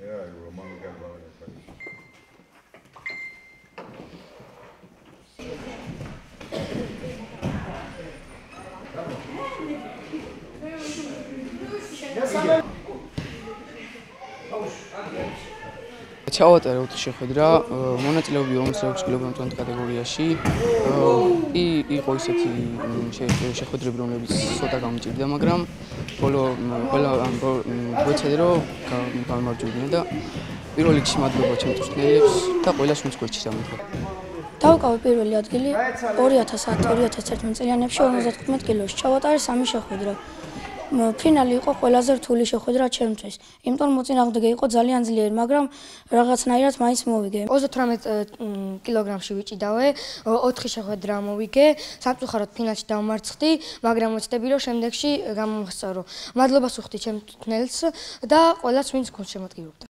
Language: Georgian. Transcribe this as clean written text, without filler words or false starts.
Yeah, Roman Gabon. ჩავატარე შეხვედრა მონაწილეობრივი ომსრეობის კილოგრამთან კატეგორიაში. იყო ისეთი შეხვედრები, რომლებიც ცოტა გამჭირდა, მაგრამ ბოლო ყველა გვეცადა რომ გამარჯვებინა და პირველ რიგში მადლობა ჩემს მწვრთნელებს და ყველას ვინც გვერდში დამდგა. დავკავე პირველი ადგილი 2010-2011 წლიანებში 55 კილოში. ჩავატარე 3 შეხვედრა. ფინალი იყო ყველაზე რთული შეხვედრა ჩემთვის. იმიტომ მოწინააღმდეგე იყო ძალიან ძლიერი, მაგრამ რაღაცნაირად მაინც მოვიგე. 38 კილოგრამში ვიჭიდავე, 4 შეხვედრა მოვიგე, სამწუხაროდ ფინალში დავმარცხდი, მაგრამ ვეცდები რომ შემდეგში გამომხსოვრო. მადლობას ვუხდი ჩემს მწვრთნელს და ყველას ვინც გულს შემატკივრობდა.